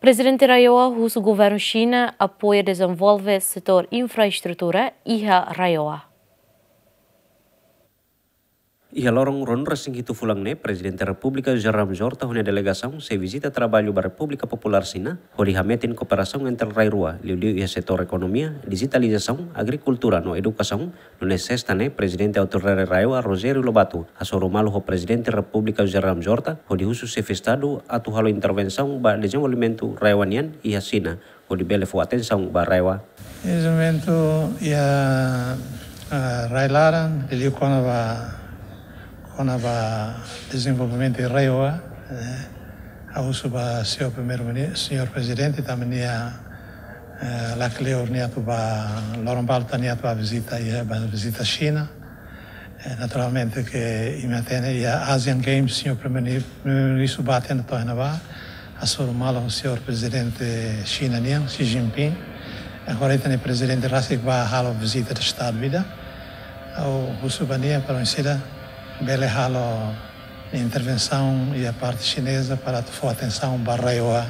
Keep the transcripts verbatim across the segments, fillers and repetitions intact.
Prezidente RAEOA husu governu Xina apoia dezenvolve setór infraestrutura iha RAEOA. Iha loron ruanulu-resin-hitu fulan ne'e, Prezidente Repúblika José Ramos Horta ho nia delegasaun sei vizita traballu ba Repúblika Populár Xina, hodi hametin kooperasaun entre rai rua, liuliu iha setór ekonomia, dijitalizasaun, agrikultura no edukasaun. Nune'e Sesta ne'e, Prezidente Autoridade RAEOA Rogério Lobato hasoru malu ho Prezidente Repúblika José Ramos Horta, hodi husu Xefe Estadu atu halo intervensaun ba dezenvolvimentu RAEOA nian iha Xina, hodi bele fó atensaun ba RAEOA. Dezenvolvimentu iha, ah, rai laran, liuliu kona-ba, kona-ba dezenvolvimentu RAEOA, eh, ha'u husu ba señór Primeiru-Ministru, señór Prezidente, tanba nia, eh, lakleur nia atu ba, loron balu tan nia atu ba vizita, iha ba vizita Xina. Eh, naturalmente ke imi hatene iha Asian Games, señór Primeiru-Ministru ba hatene to'o iha ne'ebá, hasoru malu ho señór Prezidente Xina nian, Xi Jinping. Agora ita-nia Prezidente rasik ba halo vizita de Estadu ida. Ha'u husu ba nia para oinsá bele halo intervensaun iha parte xineza para atu fó atensaun ba RAEOA,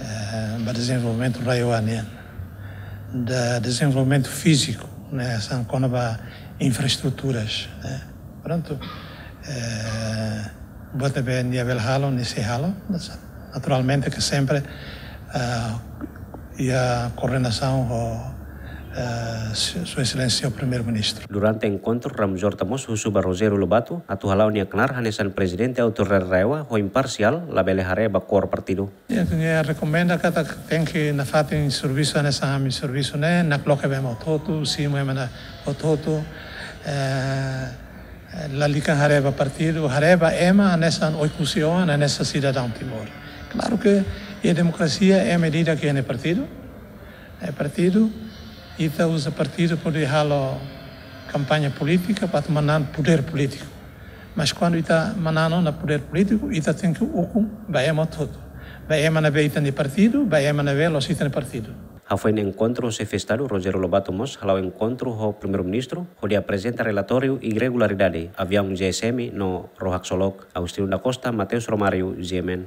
eh, ba dezenvolvimentu RAEOA nian. Ba dezenvolvimentu fíziku, ne'e, hanesan kona-ba infraestruturas, ne'e. Prontu, eh, buat ne'ebé nia bele halo, nia sei halo, naturalmente ke sempre, eh, iha koordenasaun ho, eh, Su-, Sua Exelénsia Primeiru-Ministru. Durante enkontru, Ramos Horta mós husu ba Rogério Lobato atu hala'o nia knaar hanesan Prezidente Autoridade RAEOA ho imparsiál, labele haree ba kór partidu. Nia, nia rekomenda katak tenke nafatin servisu hanesan ami servisu ne'e, nakloke ba ema hotu-hotu, simu ema hotu-hotu, eh, lalika haree ba partidu, haree ba ema hanesan Oekusi oan, hanesan sidadaun Timor. Klaru ke iha demokrasia ema ida-idak iha nia partidu, eh, partidu, ita uza partidu para hodi halo kampaña polítika, para atu manán podér polítiku. Mas kuandu ita manán ona podér polítiku, ita tenke ukun ba ema hotu-hotu. Ba ema ne'ebé iha ita-nia partidu, ba ema ne'ebé la'ós iha ita-nia partidu. Hafoin enkontru, Xefe Estadu Rogério Lobato mós hala'o enkontru ho Primeiru-Ministru, hodi aprezenta relatóriu irregularidade aviaun G S M no Rohak Solok. Agostinho da Costa, Mateus Romário, G M N.